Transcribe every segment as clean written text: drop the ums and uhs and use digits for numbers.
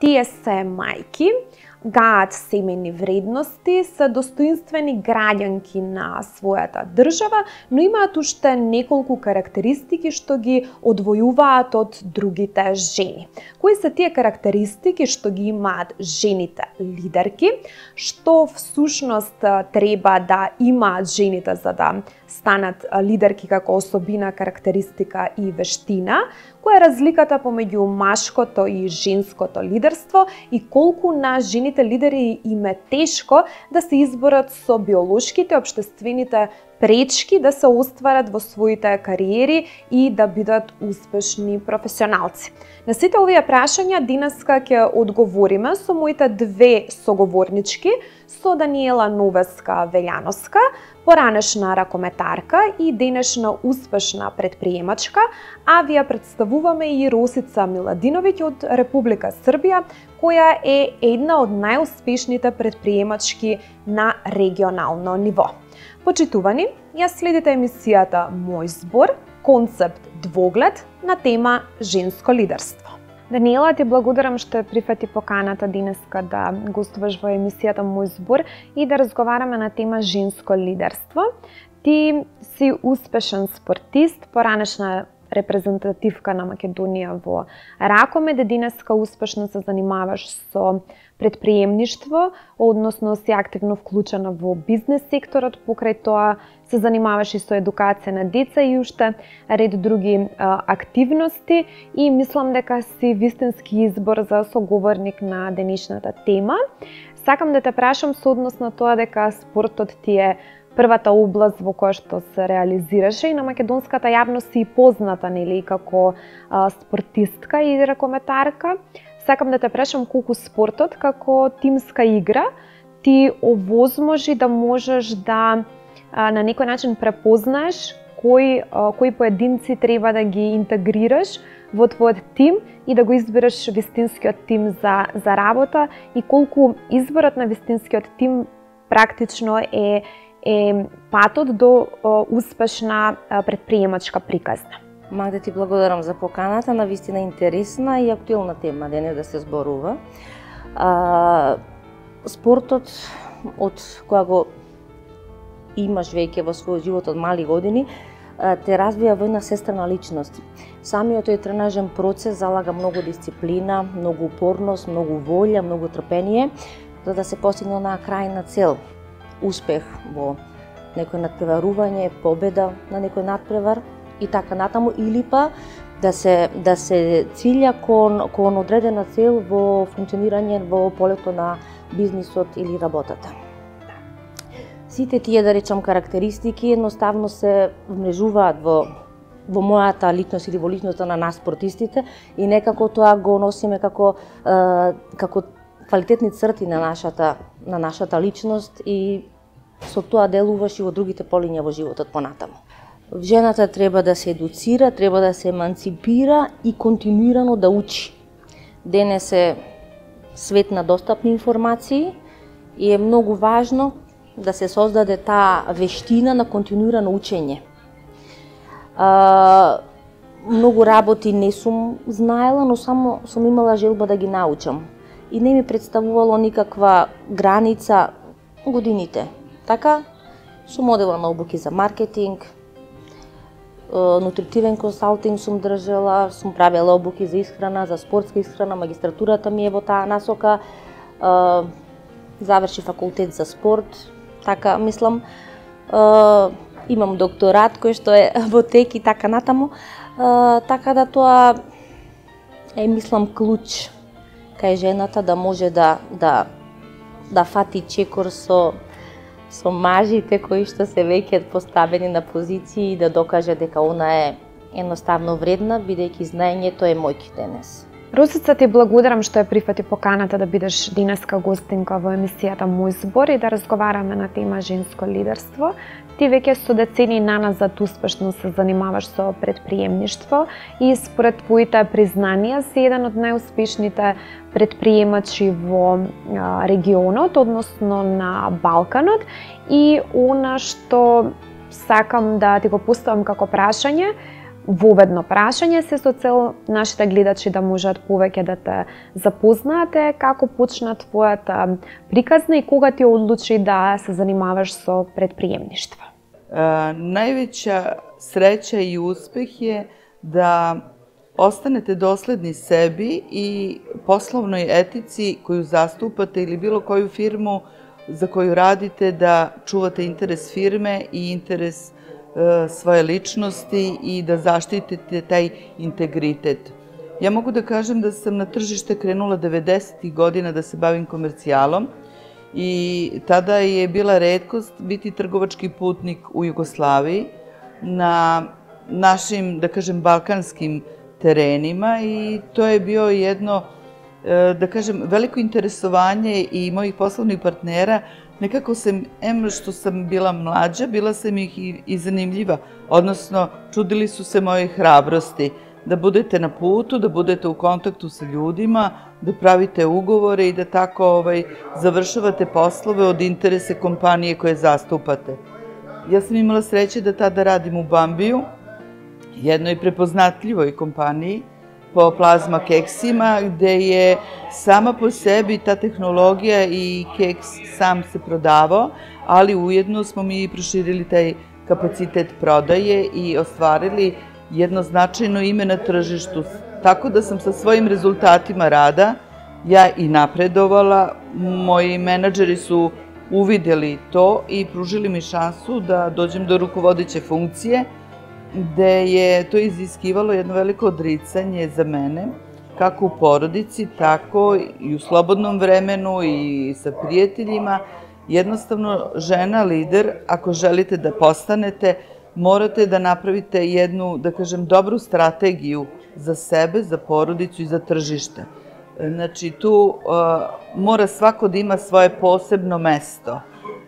Тие се мајки, гаат семејни вредности, се достоинствени граѓанки на својата држава, но имаат уште неколку карактеристики што ги одвојуваат од другите жени. Кои се тие карактеристики што ги имаат жените лидерки, што всушност треба да имаат жените за да станат лидерки како особина, карактеристика и вештина, која е разликата помеѓу машкото и женското лидерство и колку на жените лидери им е тешко да се изборат со биолошките, општествените пречки да се остварат во своите кариери и да бидат успешни професионалци. На сите овие прашања денеска ќе одговориме со моите две соговорнички, со Даниела Новеска-Велјановска, поранешна ракометарка и денешна успешна предприемачка, а ви ја представуваме и Росица Миладиновиќ од Република Србија, која е една од најуспешните предприемачки на регионално ниво. Почитувани, ја следите емисијата Мој збор, концепт двоглед на тема женско лидерство. Даниела, ти благодарам што прифати поканата денеска да гостуваш во емисијата Мој збор и да разговараме на тема женско лидерство. Ти си успешен спортист, поранешна репрезентативка на Македонија во ракомед, денеска успешно се занимаваш со предприемништво, односно си активно вклучена во бизнес секторот, покрај тоа се занимаваш и со едукација на деца и уште ред други активности и мислам дека си вистински избор за соговорник на денешната тема. Сакам да те прашам со однос на тоа дека спортот ти е првата област во која што се реализираше и на македонската јавност си позната, нели, како спортистка и ракометарка. Сакам да те прашам колку спортот како тимска игра ти овозможи да можеш да на некој начин препознаеш кои поединци треба да ги интегрираш во твојот тим и да го избереш вистинскиот тим за работа и колку изборот на вистинскиот тим практично е патот до успешна предприемачка приказна. Магда, ти благодарам за поканата, на вистина интересна и актуелна тема денес да се зборува. Спортот од кога го имаш веќе во својот живот од мали години, те развија во една сестрена личност. Самиот тој тренажен процес залага многу дисциплина, многу упорност, многу волја, многу трпение, за да се постигне на крајна цел. Успех во некој надпреварување, победа на некој надпревар и така натаму, или па да се цилја кон одредена цел во функционирање во полето на бизнисот или работата. Сите тие, да речам, карактеристики едноставно се вмрежуваат во мојата личност или во личноста на нас спортистите и некако тоа го носиме како квалитетни црти на нашата личност и со тоа делуваш и во другите полиња во животот понатаму. Жената треба да се едуцира, треба да се еманципира и континуирано да учи. Денес е свет на достапни информации и е многу важно да се создаде таа вештина на континуирано учење. Многу работи не сум знаела, но само сум имала желба да ги научам. И не ми представувало никаква граница годините. Така, сум одела на обуки за маркетинг, нутритивен консалтинг сум држала, сум правела обуки за исхрана, за спортска исхрана, магистратурата ми е во таа насока, заврши факултет за спорт, така мислам, имам докторат кој што е во тек и така натаму, така да тоа е мислам клуч кај жената да може да фати чекор со мажите кои што се веќе поставени на позиции и да докаже дека она е едноставно вредна, бидејќи знаењето е моќ денес. Росица, ти благодарам што ја прифати поканата да бидеш денеска гостинка во емисијата Мој збор и да разговараме на тема женско лидерство. Ти веќе со децении наназад успешно се занимаваш со предприемништво и според твоите признанија си еден од најуспешните предприемачи во регионот, односно на Балканот, и она што сакам да ти го поставам како прашање, воведно прашање се со цел нашите гледачи да можат повеќе да те запознаате. Како почна твојата приказна и кога ти одлучи да се занимаваш со предприемништво? Највеća среќа и успех е да останете доследни sebi i poslovnoj etici koju zastupate ili bilo koju firmu za koju radite, da čuvate interes firme i interes svoje ličnosti i da zaštitite taj integritet. Ja mogu da kažem da sam na tržište krenula 90. godina da se bavim komercijalom i tada je bila retkost biti trgovački putnik u Jugoslaviji na našim, da kažem, balkanskim terenima i to je bio jedno, da kažem, veliko interesovanje i mojih poslovnih partnera. Nekako sam, što sam bila mlađa, bila sam ih i zanimljiva, odnosno čudili su se moje hrabrosti, da budete na putu, da budete u kontaktu sa ljudima, da pravite ugovore i da tako završavate poslove od interese kompanije koje zastupate. Ja sam imala sreće da tada radim u Bambiju, jednoj prepoznatljivoj kompaniji po plazma keksima, gde je sama po sebi ta tehnologija i keks sam se prodavao, ali ujedno smo mi proširili taj kapacitet prodaje i ostvarili jedno značajno ime na tržištu. Tako da sam sa svojim rezultatima rada ja i napredovala, moji menadžeri su uvideli to i pružili mi šansu da dođem do rukovodeće funkcije, gde je to iziskivalo jedno veliko odricanje za mene, kako u porodici, tako i u slobodnom vremenu i sa prijateljima. Jednostavno, žena lider, ako želite da postanete, morate da napravite jednu, da kažem, dobru strategiju za sebe, za porodicu i za tržište. Znači, tu mora svako da ima svoje posebno mesto.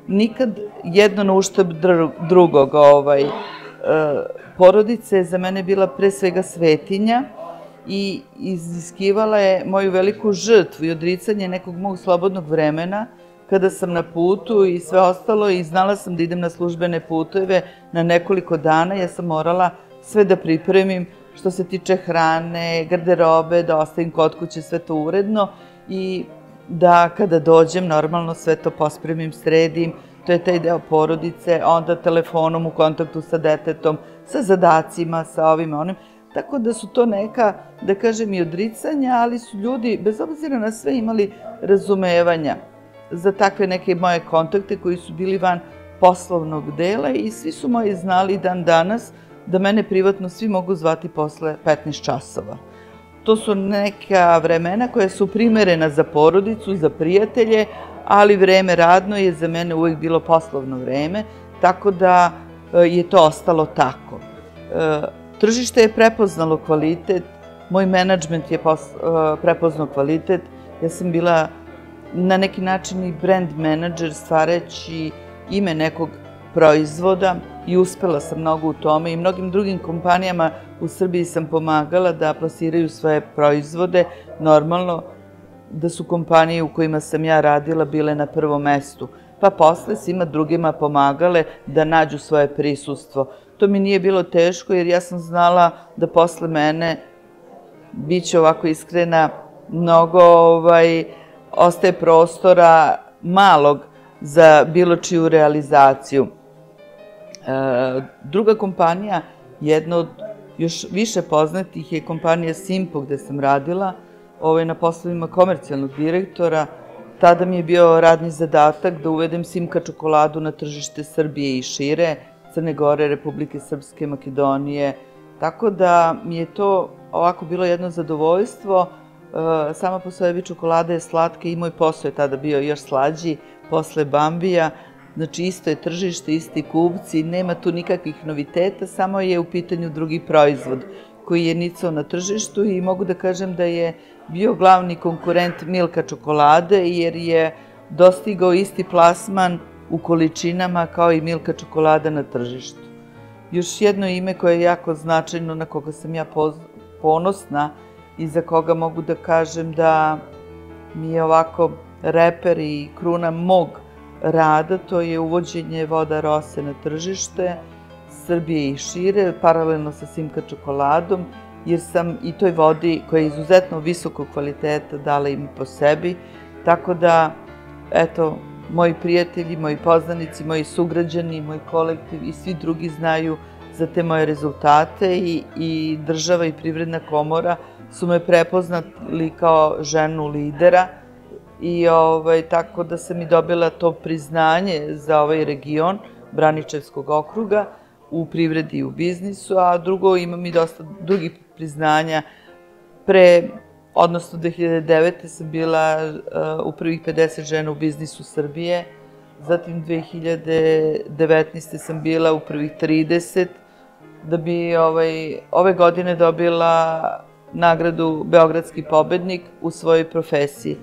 Nikad jedno na uštrb drugog. Porodica je za mene bila pre svega svetinja i iziskivala je moju veliku žrtvu i odricanje nekog mog slobodnog vremena kada sam na putu i sve ostalo i znala sam da idem na službene puteve na nekoliko dana. Ja sam morala sve da pripremim što se tiče hrane, garderobe, da ostavim kod kuće sve to uredno i da kada dođem normalno sve to pospremim, sredim. To je taj deo porodice, onda telefonom u kontaktu sa detetom, sa zadacima, sa ovim onim. Tako da su to neka, da kažem, i odricanja, ali su ljudi, bez obzira na sve, imali razumevanja za takve neke moje kontakte koji su bili van poslovnog dela i svi su moji znali dan danas da mene privatno svi mogu zvati posle 15 časova. To su neka vremena koja su primerena za porodicu, za prijatelje, ali vreme radno je za mene uvijek bilo poslovno vreme, tako da je to ostalo tako. Tržište je prepoznalo kvalitet, moj menadžment je prepoznao kvalitet, ja sam bila na neki način i brand menadžer stvarajući ime nekog proizvoda i uspela sam mnogo u tome i mnogim drugim kompanijama u Srbiji sam pomagala da plasiraju svoje proizvode. Normalno da su kompanije u kojima sam ja radila bile na prvom mestu, pa posle svima drugima pomagale da nađu svoje prisustvo. To mi nije bilo teško jer ja sam znala da posle mene, bit će ovako iskrena, mnogo ostaje prostora malog za bilo čiju realizaciju. Druga kompanija, jedna od još više poznatih je kompanija Simpo gde sam radila, na poslovima komercijalnog direktora. Tada mi je bio radni zadatak da uvedem Simka čokoladu na tržište Srbije i šire, Crne Gore, Republike Srpske, Makedonije. Tako da mi je to ovako bilo jedno zadovoljstvo. Sama po sebi čokolada je slatka i moj posao je tada bio još slađi posle Bambija. Znači isto je tržište, isti kupci, nema tu nikakvih noviteta, samo je u pitanju drugi proizvod koji je nicao na tržištu i mogu da kažem da je bio glavni konkurent Milka čokolade jer je dostigao isti plasman u količinama kao i Milka čokolada na tržištu. Još jedno ime koje je jako značajno, na koga sam ja ponosna i za koga mogu da kažem da mi je ovako reper i kruna mog rada, to je uvođenje Voda Rose na tržište Srbije i šire, paralelno sa Simka čokoladom, jer sam i toj vodi koja je izuzetno visokog kvaliteta dala im po sebi, tako da, eto, moji prijatelji, moji poznanici, moji sugrađani, moj kolektiv i svi drugi znaju za te moje rezultate i država i Privredna komora su me prepoznali kao ženu lidera i tako da sam i dobila to priznanje za ovaj region Braničevskog okruga u privredi i u biznisu, a drugo imam i dosta drugih priznanja. Odnosno 2009. sam bila u prvih 50 žena u biznisu Srbije, zatim 2019. sam bila u prvih 30, da bi ove godine dobila nagradu Beogradski победник u svojoj profesiji.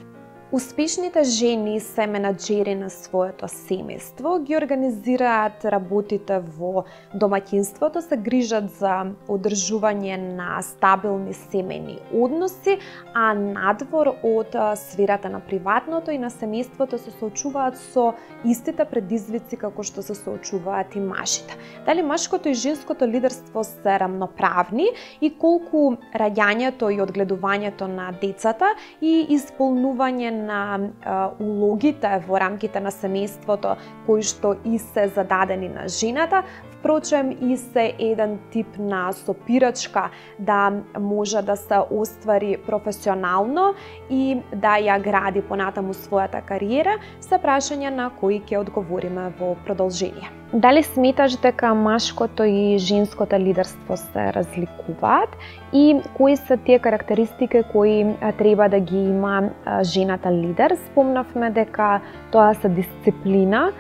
Успешните жени се менаџери на своето семејство, ги организираат работите во домаќинството, се грижат за одржување на стабилни семејни односи, а надвор од сферата на приватното и на семејството се соочуваат со истите предизвици како што се соочуваат и мажите. Дали машкото и женското лидерство се рамноправни и колку раѓањето и одгледувањето на децата и исполнување на улогите во рамките на семејството кои што и се зададени на жената, впрочем и се еден тип на сопирачка да може да се оствари професионално и да ја гради понатаму својата кариера, се прашања на кои ќе одговориме во продолжение. Дали сметаш дека машкото и женското лидерство се разликуваат и кои се тие карактеристики кои треба да ги има жената лидер? Спомнавме дека тоа се дисциплина,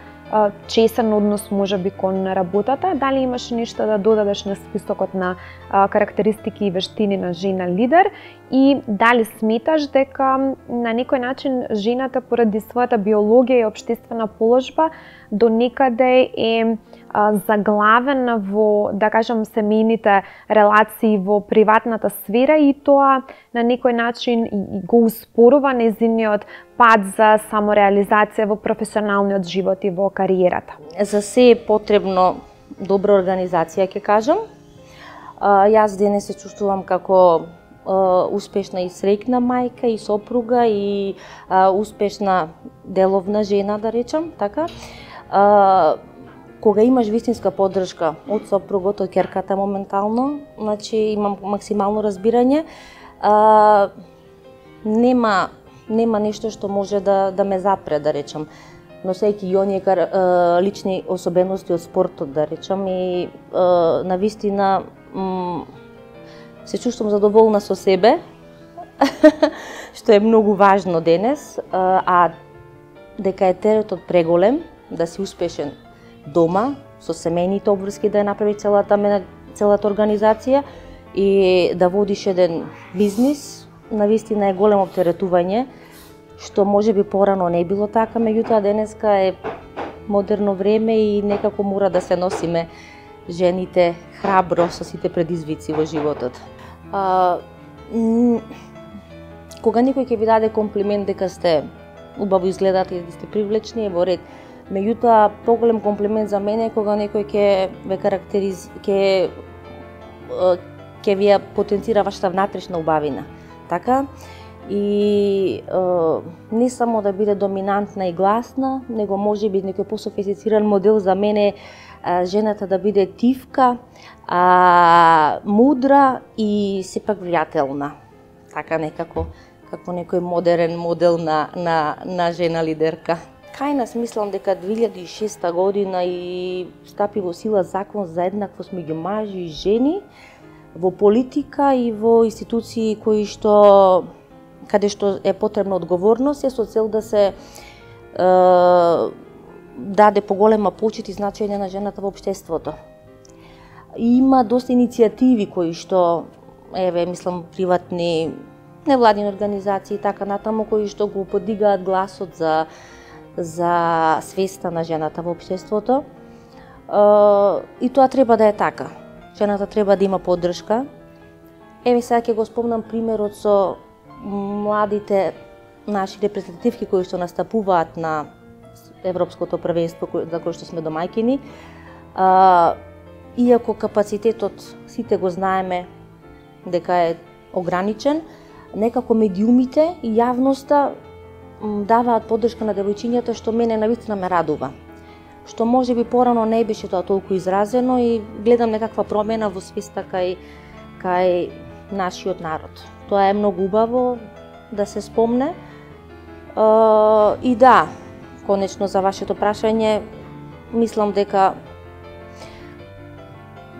чесен однос можеби кон работата. Дали имаш нешто да додадеш на списокот на карактеристики и вештини на жена лидер и дали сметаш дека на некој начин жената поради својата биологија и општествена положба до некаде е заглавена во, да кажам, семејните релации во приватната сфера и тоа на некој начин го успорува нејзиниот пат за самореализација во професионалниот живот и во кариерата. За се е потребно добра организација, ќе кажам. Јас денес се чувствувам како успешна и среќна мајка и сопруга и успешна деловна жена, да речам, така. Кога имаш вистинска поддршка од сопругот, од ќерката моментално, значи имам максимално разбирање, нема нешто што може да ме запре, да речам. Носејќи и оние лични особености од спортот, да речам, и навистина се чувствувам задоволна со себе, што е многу важно денес, а дека е теретот преголем, да си успешен дома, со семејните обврски да ја направи целата организација и да водиш еден бизнис, навистина е големо оптеретување, што може би порано не било така, меѓутоа денеска е модерно време и некако мора да се носиме жените храбро со сите предизвици во животот. Кога некој ќе ви даде комплимент дека сте убаво изгледате и сте привлечни, е во ред. Меѓутоа, поголем комплимент за мене е кога некој ќе ви ја потенцира вашата внатрешна убавина. Така? И не само да биде доминантна и гласна, него може би некој пософистициран модел за мене жената да биде тивка, мудра и сепак влијателна. Така некако, како некој модерен модел на жена лидерка. Кај нас мислам дека 2006 година и стапи во сила закон за еднаквост меѓу мажи и жени во политика и во институции каде што е потребна одговорност, е со цел да се даде поголема почит и значење на жената во општеството. Има доста иницијативи кои што, мислам, приватни, невладини организации и така натаму, кои што го подигаат гласот за свеста на жената во општеството. И тоа треба да е така. Жената треба да има поддршка. Сега ќе го спомнам примерот со младите наши репрезентативки кои што настапуваат на Европското првенство за кое што сме домаќини. иако капацитетот сите го знаеме дека е ограничен, некако медиумите и јавноста даваат поддршка на девојчињата, што мене навистина ме радува. Што може би порано не беше тоа толку изразено и гледам некаква промена во свеста кај нашиот народ. Тоа е многу убаво да се спомне. И да, конечно за вашето прашање, мислам дека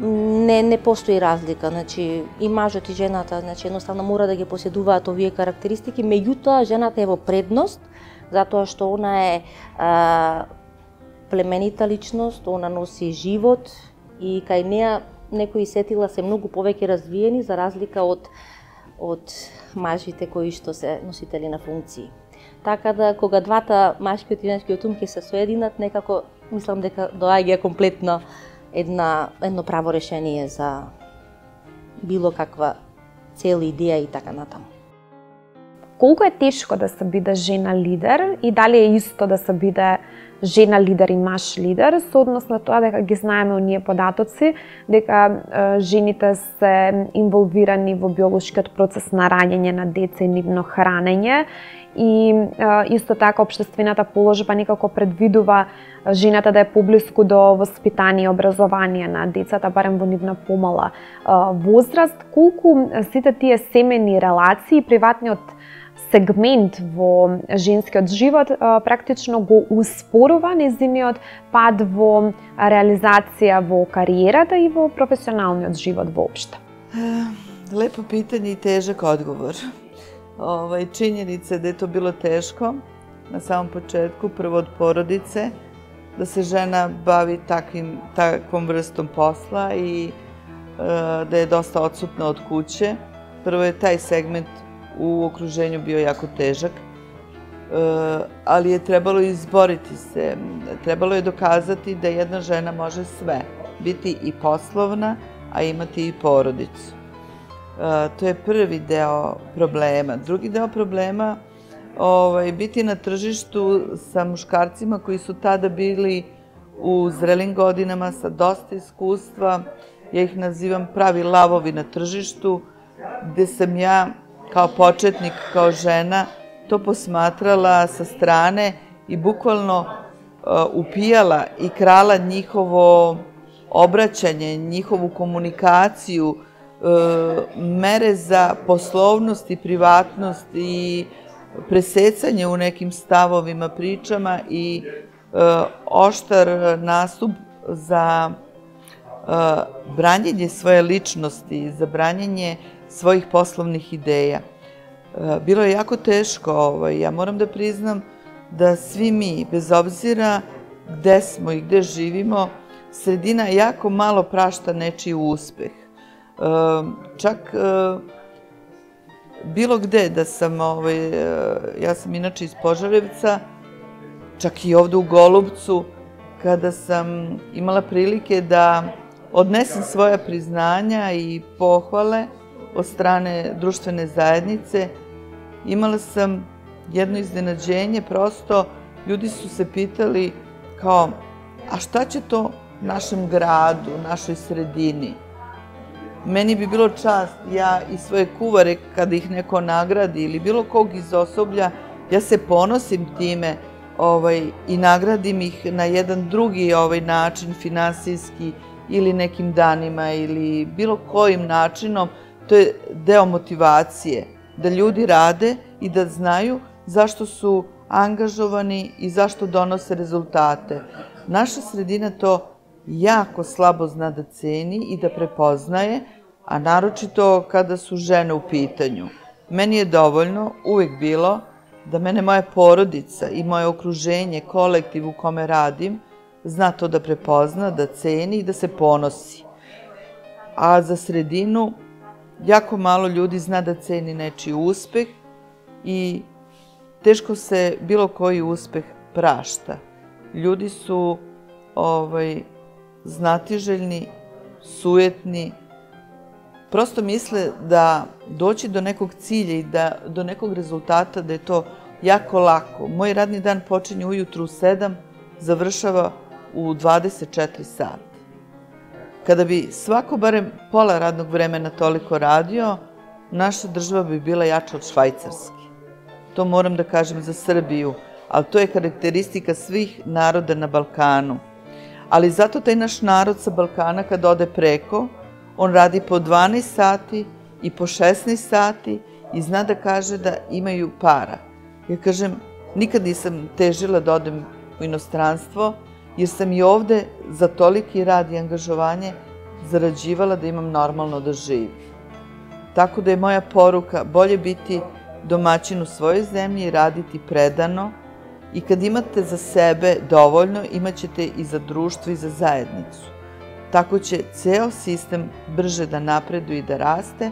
не постои разлика, значи и мажот и жената, значи едноставно мора да ги поседуваат овие карактеристики, меѓутоа жената е во предност затоа што она е племенита личност, она носи живот и кај неа некои сетила се многу повеќе развиени за разлика од мажите кои што се носители на функции. Така да кога двата машкиот и женскиот ум ќе се соединат, некако мислам дека доаѓа комплетно едно право решение за било каква цел, идеја и така натаму. Колку е тешко да се биде жена лидер и дали е исто да се биде жена лидер и маж лидер, со однос на тоа дека ги знаеме оние податоци, дека жените се инволвирани во биолошкиот процес на раѓање на деца и нивно хранење, и исто така општествената положба некако предвидува жената да е поблиску до воспитание и образование на децата, барем во нивна помала возраст. Колку сите тие семени релации и приватниот сегмент во женскиот живот практично го успорува нејзиниот пад во реализација во кариерата и во професионалниот живот воопшто? Лепо питање и тежак одговор. Чинjenica da je to bilo teško na samom početku, prvo od porodice, da se žena bavi takvom vrstom posla i da je dosta odsutna od kuće. Prvo je taj segment u okruženju bio jako težak, ali je trebalo izboriti se. Trebalo je dokazati da jedna žena može sve, biti i poslovna, a imati i porodicu. To je prvi deo problema. Drugi deo problema biti na tržištu sa muškarcima koji su tada bili u zrelim godinama sa dosta iskustva. Ja ih nazivam pravi lavovi na tržištu, gde sam ja kao početnik, kao žena, to posmatrala sa strane i bukvalno upijala i krala njihovo obraćanje, njihovu komunikaciju, mere za poslovnost i privatnost i presecanje u nekim stavovima, pričama i oštar nastup za branjenje svoje ličnosti, za branjenje svojih poslovnih ideja. Bilo je jako teško, ja moram da priznam da svi mi, bez obzira gde smo i gde živimo, sredina jako malo prašta nečiji uspeh. Čak bilo gde da sam, ja sam inače iz Požarevca, čak i ovde u Golubcu, kada sam imala prilike da odnesem svoja priznanja i pohvale od strane društvene zajednice, imala sam jedno iznenađenje, prosto ljudi su se pitali kao, a šta će to našem gradu, našoj sredini? Meni bi bilo čast, ja i svoje kuvare, kada ih neko nagradi ili bilo kog iz osoblja, ja se ponosim time i nagradim ih na jedan drugi način, finansijski ili nekim danima ili bilo kojim načinom. To je deo motivacije, da ljudi rade i da znaju zašto su angažovani i zašto donose rezultate. Naša sredina to jako slabo zna da ceni i da prepoznaje, a naročito kada su žene u pitanju. Meni je dovoljno uvek bilo da mene moja porodica i moje okruženje, kolektiv u kome radim, zna to da prepozna, da ceni i da se ponosi. A za sredinu jako malo ljudi zna da ceni nečiji uspeh i teško se bilo koji uspeh prašta. Ljudi su znatiželjni, sujetni, prosto misle da doći do nekog cilja i do nekog rezultata da je to jako lako. Moj radni dan počinje ujutru u 7, završava u 24 sata. Kada bi svako barem pola radnog vremena toliko radio, naša država bi bila jača od Švajcarske. To moram da kažem za Srbiju, ali to je karakteristika svih naroda na Balkanu. Ali zato taj naš narod sa Balkana kad ode preko, on radi po 12 sati i po 16 sati i zna da kaže da imaju para. Ja kažem, nikad nisam težila da odem u inostranstvo, jer sam i ovde za toliki rad i angažovanje zarađivala da imam normalno da živim. Tako da je moja poruka bolje biti domaćin u svojoj zemlji i raditi predano i kad imate za sebe dovoljno, imat ćete i za društvo i za zajednicu. Tako će ceo sistem brže da napreduje i da raste,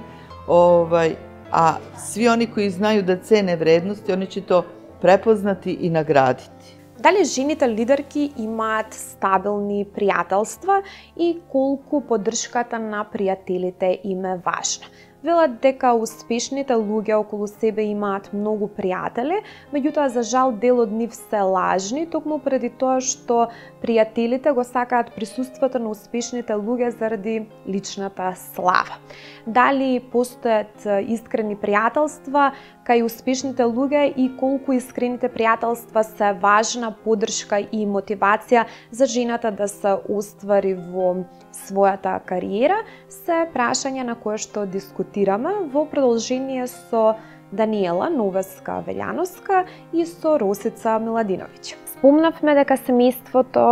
a svi oni koji znaju da cene vredности, oni će to prepoznati и наградити. Дали жените лидерки имаат стабилни пријателства и колку поддршката на пријателите им е важна? Велат дека успешните луѓе околу себе имаат многу пријатели, меѓутоа за жал дел од нив се лажни, токму преди тоа што пријателите го сакаат присуството на успешните луѓе заради личната слава. Дали постојат искрени пријателства кај успешните луѓе и колку искрените пријателства се важна поддршка и мотивација за жената да се оствари во својата кариера, се прашања на кое што дискутираме во продолжение со Даниела Новеска-Велјановска и со Росица Миладиновиќ. Спомнавме дека семејството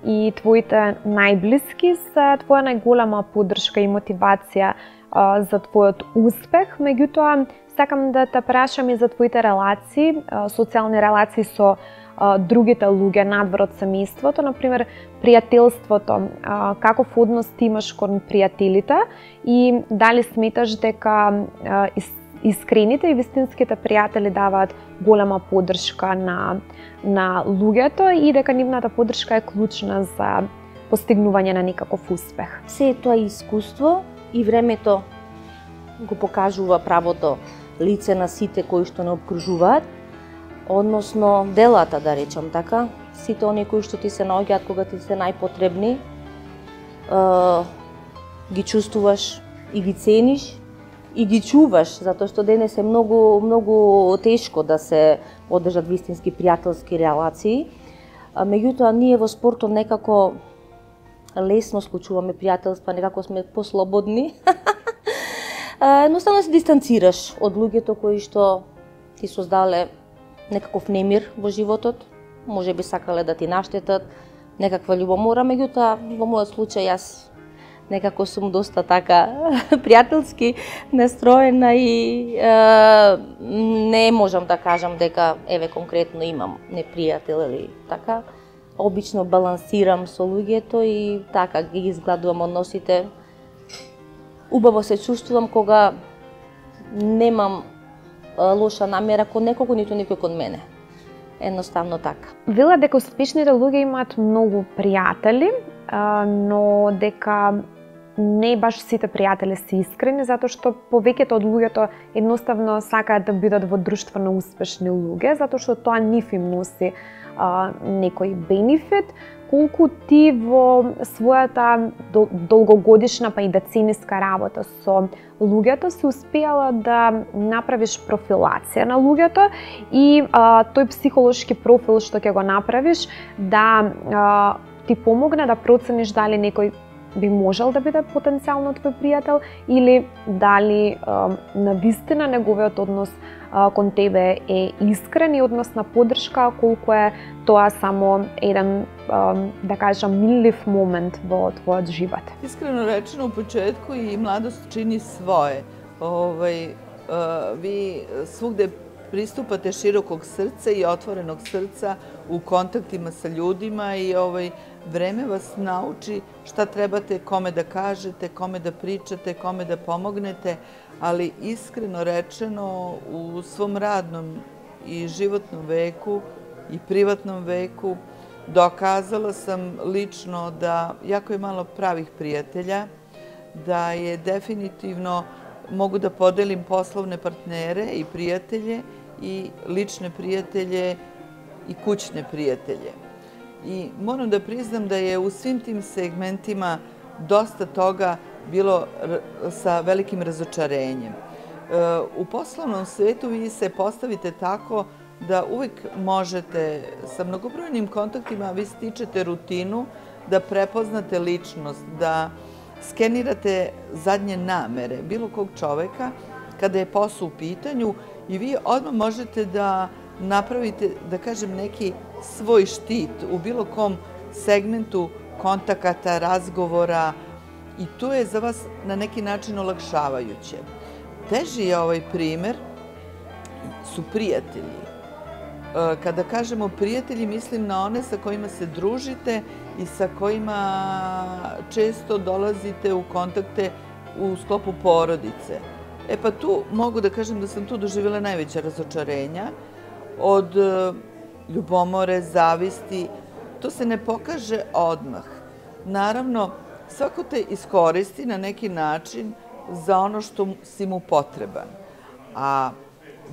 и твоите најблиски се твоја најголема поддршка и мотивација за твојот успех, меѓутоа сакам да те прашам и за твоите релации, социјални релации со другите луѓе надвор од семејството, например пријателството, каков однос ти имаш кон пријателите и дали сметаш дека искрените и вистинските пријатели даваат голема поддршка на луѓето и дека нивната поддршка е клучна за постигнување на некаков успех. Се тоа искуство и времето го покажува правото лице на сите кои што не обкружуваат, односно делата, да речам така, сите оние кои што ти се наоѓаат кога ти се најпотребни, ги чувствуваш и ги цениш и ги чуваш, затоа што денес е многу тешко да се одржат вистински пријателски релации. Меѓутоа ние во спортот некако лесно склучуваме пријателства, некако сме послободни. Едноставно се дистанцираш од луѓето кои што ти создале некаков немир во животот, може би сакале да ти наштетат, некаква љубомора, меѓутоа во мојот случај јас некако сум доста така пријателски настроена и не можам да кажам дека еве конкретно имам непријател или така. Обично балансирам со луѓето и така ги изгладувам односите. Убаво се чувствувам кога немам лоша намера кон некого, ниту некој кон мене. Едноставно така. Вела дека успешните луѓе имаат многу пријатели, но дека не баш сите пријатели се искрени, затоа што повеќето од луѓето едноставно сакаат да бидат во друштво на успешни луѓе, затоа што тоа нив им носи некој бенефит, колку ти во својата долгогодишна па и децениска работа со луѓето се успеала да направиш профилација на луѓето и тој психолошки профил што ќе го направиш да ти помогне да процениш дали некој би можел да биде потенцијално твој пријател или дали навистина неговиот однос кон тебе е искрен и однос на поддршка, колку е тоа само еден, да кажам, миллив момент во твојот живот. Искрено речено, у почетку и младост чини своje. Vi svugde pristupate širokog srca i otvorenog srca u kontaktima sa ljudima i vreme vas nauči šta trebate kome da kažete, kome da pričate, kome da pomognete, ali iskreno rečeno u svom radnom i životnom veku i privatnom veku dokazala sam lično da jako je malo pravih prijatelja, da je definitivno mogu da podelim poslovne partnere i prijatelje i lične prijatelje i kućne prijatelje. I moram da priznam da je u svim tim segmentima dosta toga bilo sa velikim razočarenjem. U poslovnom svetu vi se postavite tako da uvijek možete sa mnogobrojnim kontaktima, vi stičete rutinu, da prepoznate ličnost, da skenirate zadnje namere bilo kog čoveka kada je posao u pitanju i vi odmah možete da napravite, da kažem, neki svoj štit u bilo kom segmentu kontakata, razgovora i to je za vas na neki način olakšavajuće. Teži je ovaj primer su prijatelji. Kada kažemo prijatelji, mislim na one sa kojima se družite i sa kojima često dolazite u kontakte u sklopu porodice. Pa tu mogu da kažem da sam tu doživjela najveća razočarenja od ljubomore, zavisti. To se ne pokaže odmah. Naravno, svako te iskoristi na neki način za ono što si mu potreban. A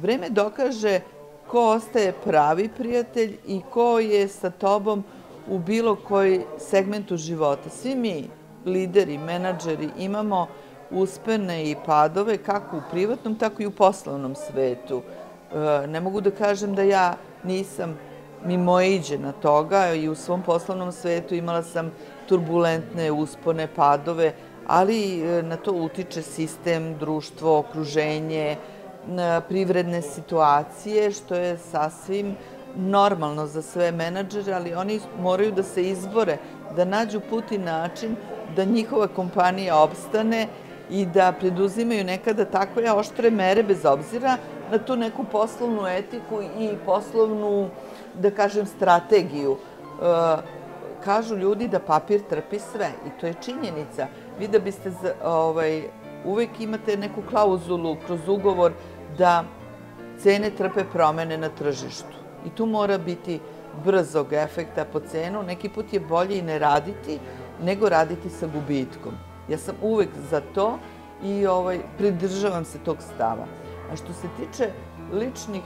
vreme dokaže ko ostaje pravi prijatelj i ko je sa tobom u bilo koji segmentu života. Svi mi, lideri, menadžeri, imamo uspone i padove kako u privatnom, tako i u poslovnom svetu. Ne mogu da kažem da ja nisam mimoiđena toga i u svom poslovnom svetu imala sam turbulentne uspone, padove, ali na to utiče sistem, društvo, okruženje, privredne situacije, što je sasvim normalno za sve menadžere, ali oni moraju da se izbore, da nađu put i način da njihova kompanija opstane i da preduzimaju nekada takve oštre mere bez obzira na tu neku poslovnu etiku i poslovnu, da kažem, strategiju. Kažu ljudi da papir trpi sve i to je činjenica. Vi da biste uvek imate neku klauzulu kroz ugovor da cene trpe promene na tržištu. I tu mora biti brzog efekta po cenu. Neki put je bolje i ne raditi, nego raditi sa gubitkom. Ja sam uvek za to i pridržavam se tog stava. A što se tiče ličnih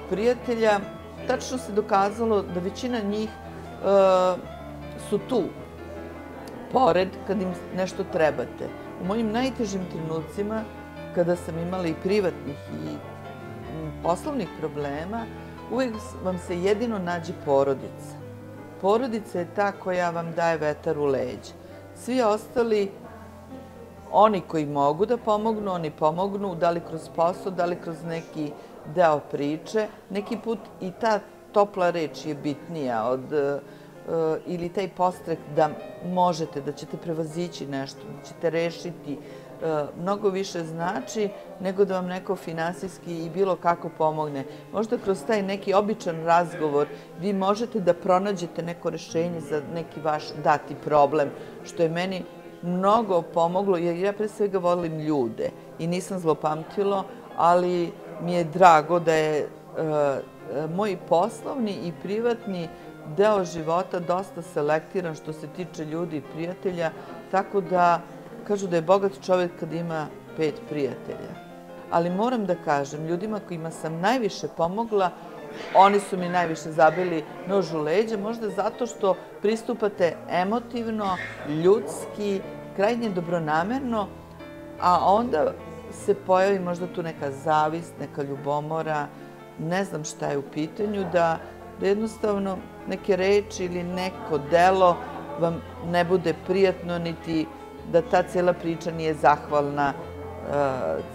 prijatelja, tačno se dokazalo da većina njih su tu, pored kad im nešto trebate. U mojim najtežim trenucima, kada sam imala i privatnih i poslovnih problema, uvijek vam se jedino nađe porodica. Porodica je ta koja vam daje vetar u leđa. Svi ostali, oni koji mogu da pomognu, oni pomognu, da li kroz posao, da li kroz neki deo priče. Neki put i ta topla reč je bitnija ili taj podstrek da možete, da ćete prevazići nešto, da ćete rešiti, mnogo više znači nego da vam neko finansijski i bilo kako pomogne. Možda kroz taj neki običan razgovor vi možete da pronađete neko rešenje za neki vaš dati problem, što je meni mnogo pomoglo, jer ja pre svega volim ljude i nisam zlopamtilo, ali mi je drago da je moj poslovni i privatni deo života dosta selektiran što se tiče ljudi i prijatelja, tako da kažu da je bogat čovjek kad ima 5 prijatelja. Ali moram da kažem, ljudima kojima sam najviše pomogla, oni su mi najviše zabili nož u leđa, možda zato što pristupate emotivno, ljudski, krajnje dobronamerno, a onda se pojavi možda tu neka zavist, neka ljubomora, ne znam šta je u pitanju, da jednostavno neke reči ili neko delo vam ne bude prijatno, niti da ta cela priča nije zahvalna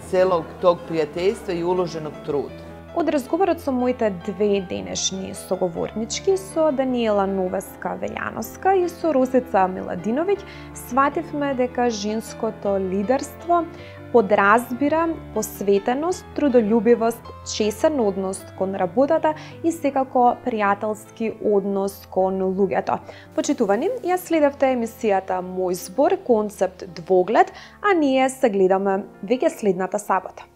celog tog prijateljstva и уложеног труда. Од разговорот со моите две денешни соговорнички, со Даниела Новеска-Велјановска и со Росица Миладиновиќ, свативме дека женското лидерство подразбира посветеност, трудолюбивост, чесен однос кон работата и секако пријателски однос кон луѓето. Почитувани, ја следевте емисијата Мој збор, концепт двоглед, а ние се гледаме веќе следната сабота.